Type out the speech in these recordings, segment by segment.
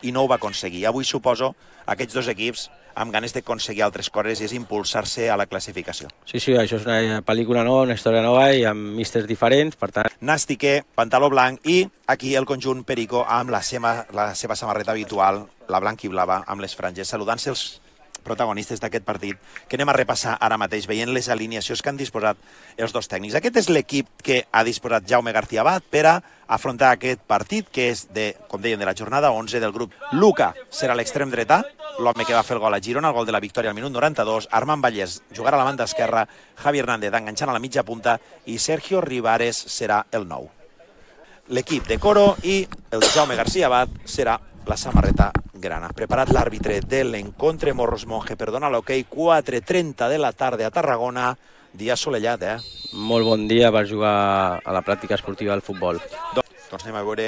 i no ho va aconseguir. Avui suposo aquests dos equips amb ganes d'aconseguir altres coses i és impulsar-se a la classificació. Sí, això és una pel·lícula nova, una història nova i amb místers diferents, per tant... Nàstique, pantaló blanc i aquí el conjunt Perico amb la seva samarreta habitual, la blanca i blava, amb les franges, saludant-se els protagonistes d'aquest partit, que anem a repassar ara mateix, veient les alineacions que han disposat els dos tècnics. Aquest és l'equip que ha disposat Jaume García Abad per a afrontar aquest partit, que és, com deien, de la jornada 11 del grup. Luca serà l'extrem dretà, l'home que va fer el gol a Girona, el gol de la victòria al minut 92, Armand Vallès jugarà a la banda esquerra, Javi Hernández enganxant a la mitja punta i Sergio Rivares serà el nou. L'equip de Coro i el Jaume García Abad serà la samarreta grana. Preparat l'àrbitre de l'encontre, Morros Monge, perdona l'hoquei, 4:30 de la tarda a Tarragona, dia assolellat, Molt bon dia per jugar a la pràctica esportiva del futbol. Doncs anem a veure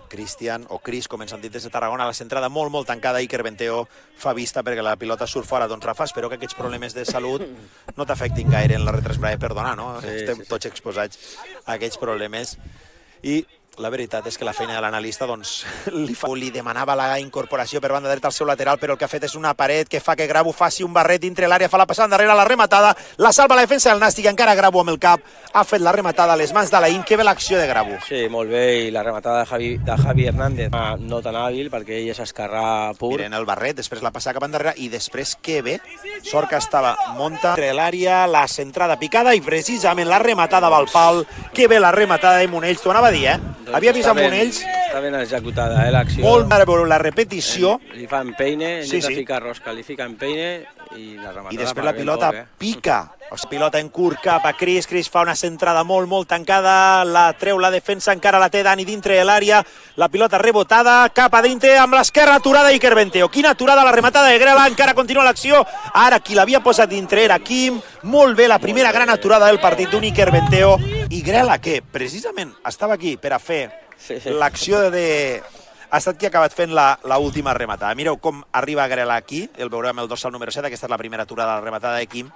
Cristian, o Cris, com ens han dit des de Tarragona, la centrada molt tancada, Iker Benteo fa vista perquè la pilota surt fora. Doncs Rafa, espero que aquests problemes de salut no t'afectin gaire en la retransmissió, perdona, no? Estem tots exposats a aquests problemes. I la veritat és que la feina de l'analista li demanava la incorporació per banda dreta al seu lateral, però el que ha fet és una paret que fa que Grabo faci un barret dintre l'àrea, fa la passada endarrere, la rematada, la salva la defensa del Nàstic, encara Grabo amb el cap, ha fet la rematada a les mans d'Alain. Que bé l'acció de Grabo. Sí, molt bé, i la rematada de Javi Hernández no tan hàbil, perquè ell és esquerrà pur. Miren el barret, després la passada cap endarrere, i després que bé, sort que estava munta entre l'àrea, la centrada picada, i precisament la rematada va al pal. Que bé la rematada de Monells, t'ho anava a dir, Havia vist a Monells... Està ben executada, l'acció. Molt bé, veure la repetició. Li fa empeine, intenta ficar rosca, li fica empeine i la rematada... I després la pilota pica. La pilota en curt cap a Cris fa una centrada molt tancada, la treu la defensa, encara la té Dani dintre de l'àrea, la pilota rebotada, cap a dintre, amb l'esquerra aturada Iker Benteo. Quina aturada, la rematada de Grela, encara continua l'acció. Ara qui l'havia posat dintre era Quim. Molt bé, la primera gran aturada del partit d'un Iker Benteo. I Grela, que precisament estava aquí per a fer l'acció de... ha estat qui ha acabat fent l'última rematada. Mireu com arriba Grela aquí, el veurem el dorsal número 7, aquesta és la primera aturada, la rematada de Quim.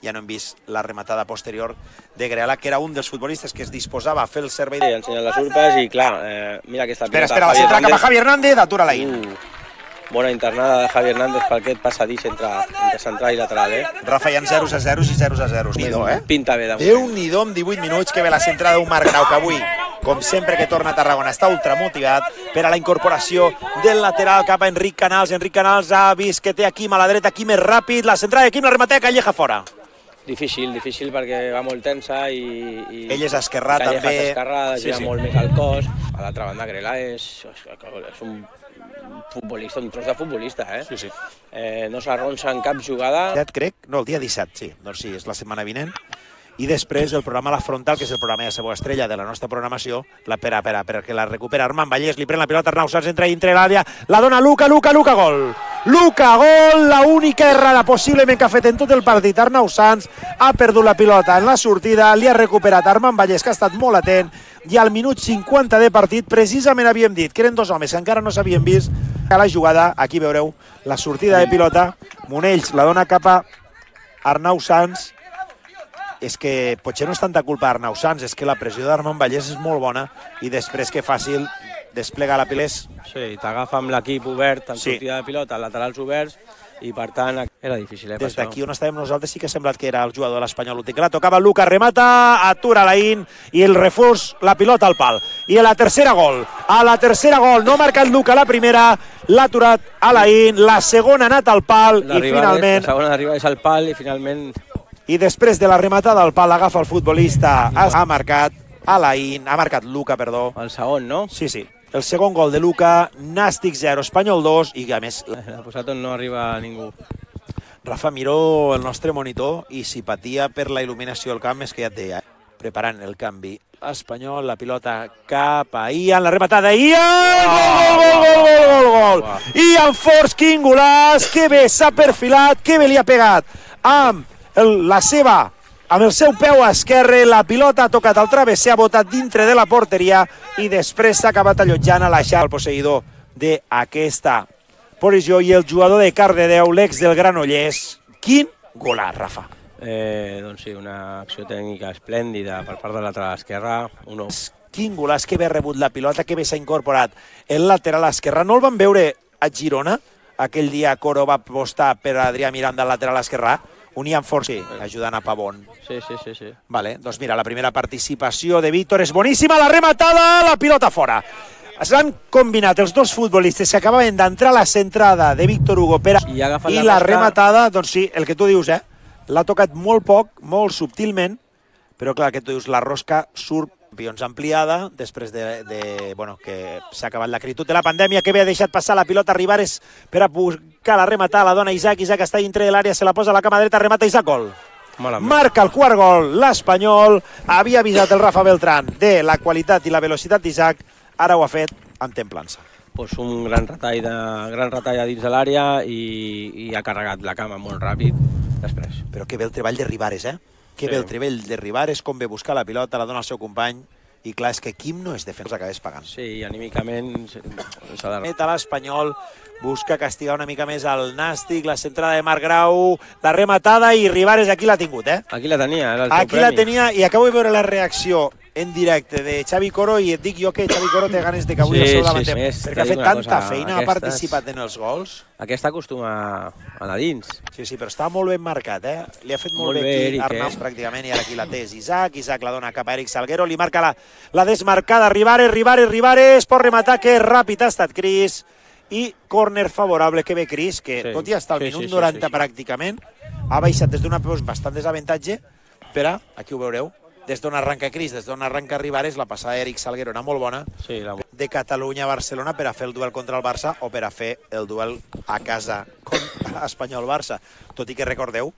Ja no hem vist la rematada posterior de Grela, que era un dels futbolistes que es disposava a fer el servei... Sí, ensenyant les urpes i clar, mira aquesta pilota... Espera, la centra cap a Javi Hernández, atura l'Ain. Bona internada de Javi Hernández per aquest passadís entre central i lateral, Rafa, hi ha 0-0 i 0-0. Déu-n'hi-do, Pinta bé, damunt. Déu-n'hi-do amb 18 minuts, que ve la centrada d'un Marc Grau, que avui, com sempre que torna a Tarragona, està ultramotivat per a la incorporació del lateral cap a Enric Canals. Enric Canals ha vist que té a Quim a la dreta, Quim és ràpid, la centrada de Quim, la rematea Calleja fora. Difícil perquè va molt tensa i... Ell és esquerrà també. Calleja és esquerrà, gira molt més al cos. A l'altra banda, Grela és un futbolista, un tros de futbolista, Sí. No s'arronsa en cap jugada. Crec, no, el dia 17, sí. Doncs sí, és la setmana vinent. I després el programa La Frontal, que és el programa de Sabó Estrella de la nostra programació, perquè la recupera Armand Vallès, li pren la pilota, Arnau Sans entra dintre l'àrea, la dona Luca, gol! Luca, gol, l'única errada possiblement que ha fet en tot el partit. Arnau Sans ha perdut la pilota en la sortida, li ha recuperat Armand Vallès, que ha estat molt atent, i al minut 50 de partit, precisament havíem dit que eren dos homes que encara no s'havien vist a la jugada. Aquí veureu la sortida de pilota, Monells la dona cap a Arnau Sans. És que potser no és tanta culpa d'Arnau Sans, és que la pressió d'Armand Vallès és molt bona i després que fàcil desplega la pilés. Sí, t'agafa amb l'equip obert en sortida de pilota, laterals oberts, i per tant era difícil. Des d'aquí on estàvem nosaltres sí que ha semblat que era el jugador de l'Espanyol l'últim. La tocava Luca, remata, atura l'Ain i el refús, la pilota al pal. I a la tercera gol, no ha marcat Luca la primera, l'ha aturat a l'Ain, la segona ha anat al pal i finalment... La segona d'arribar és al pal i finalment... I després de la rematada al pal agafa el futbolista, ha marcat Luca, perdó. El segon, no? Sí. El segon gol de Luca, Nàstic 0, Espanyol 2, i a més... La posat on no arriba ningú. Rafa, miro el nostre monitor i si patia per la il·luminació del camp és que ja et deia. Preparant el canvi espanyol, la pilota cap a Ian, la rematada, Gol! Ian Forss, quin golaç, que bé s'ha perfilat, que bé li ha pegat amb el seu peu esquerre, la pilota ha tocat al travesser, ha botat dintre de la porteria i després s'ha acabat allotjant a la xarxa el posseïdor d'aquesta posició i el jugador de Cardedeu, l'ex del Granollers. Quin golaç, Rafa! Doncs sí, una acció tècnica esplèndida per part de lateral esquerra. Quin golaç, que bé ha rebut la pilota, que bé s'ha incorporat el lateral esquerre. No el van veure a Girona, aquell dia Coro va apostar per Adrià Miranda al lateral esquerrà, unien força, ajudant a Pavón. Sí. Vale, doncs mira, la primera participació de Víctor és boníssima, la rematada, la pilota fora. S'han combinat els dos futbolistes que acabaven d'entrar a la centrada de Víctor Hugo Pera i la rematada, doncs sí, el que tu dius, l'ha tocat molt poc, molt subtilment, però clar, que tu dius, la rosca surt Campions ampliada, després bueno, que s'ha acabat la critud de la pandèmia, que havia deixat passar la pilota a Rivares per a buscar la rematada, la dona Isaac està dintre de l'àrea, se la posa a la cama dreta, remata Isaac, gol. Marca el quart gol, l'Espanyol, havia avisat el Rafa Beltrán de la qualitat i la velocitat d'Isaac, ara ho ha fet amb templança. Pues un gran retall a dins de l'àrea i ha carregat la cama molt ràpid després. Però que bé el treball de Rivares, Que bé el treball de Rivares, com ve buscar la pilota, la dona al seu company, i clar, és que Quim no és defensa, acabés pagant. Sí, i anímicament s'ha de... Meta l'Espanyol, busca castigar una mica més el Nàstic, la centrada de Marc Grau, la rematada, i Rivares aquí l'ha tingut, Aquí la tenia, era el seu premi. Aquí la tenia, i acabo de veure la reacció en directe de Xavi Coro, i et dic jo que Xavi Coro té ganes de que avui el seu davanter, perquè ha fet tanta feina, ha participat en els gols. Aquesta acostuma a anar dins. Sí, però està molt ben marcat, Li ha fet molt bé aquí Arnau, pràcticament, i ara aquí la té Isaac la dona cap a Eric Salguero, li marca la desmarcada, Rivares, pot rematar, que ràpid ha estat Cris, i córner favorable, que ve Cris, que tot i estar al minut 90 pràcticament, ha baixat des d'una bastant desavantatge, però, aquí ho veureu, des d'on arranca Cris, des d'on arranca Rivares, la passada d'Eric Salguero era molt bona, de Catalunya a Barcelona per a fer el duel contra el Barça o per a fer el duel a casa contra Espanyol-Barça. Tot i que recordeu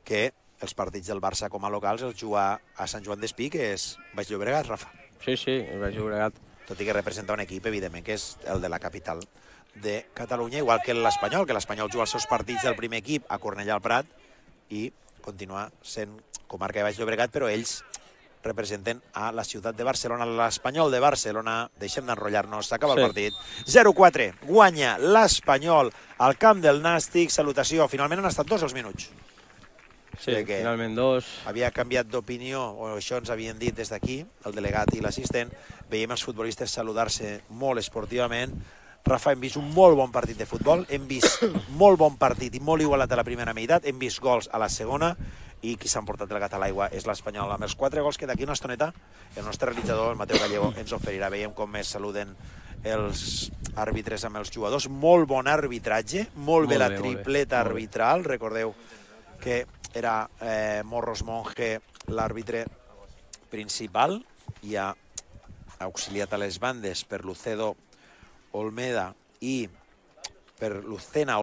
que els partits del Barça com a locals els juga a Sant Joan d'Espí, que és Baix Llobregat, Rafa. Sí, Baix Llobregat. Tot i que representa un equip, evidentment, que és el de la capital de Catalunya, igual que l'Espanyol, juga els seus partits del primer equip a Cornellà al Prat i continua sent comarca de Baix Llobregat, però ells representen a la ciutat de Barcelona, l'Espanyol de Barcelona. Deixem d'enrotllar-nos, s'acaba el partit. 0-4, guanya l'Espanyol al camp del Nàstic. Salutació, finalment han estat 2 els minuts. Sí, finalment 2. Havia canviat d'opinió, o això ens havien dit des d'aquí, el delegat i l'assistent. Veiem els futbolistes saludar-se molt esportivament. Rafa, hem vist un molt bon partit de futbol, hem vist molt bon partit i molt igualat a la primera meitat, hem vist gols a la segona, i qui s'ha emportat el gat a l'aigua és l'Espanyol, amb els 4 gols que d'aquí una estoneta el nostre realitzador, el Mateu Gallego, ens oferirà. Veiem com es saluden els àrbitres amb els jugadors. Molt bon arbitratge, molt bé la tripleta arbitral. Recordeu que era Morros Monge l'àrbitre principal, i ha auxiliat a les bandes per Lucedo Olmeda i per Lucena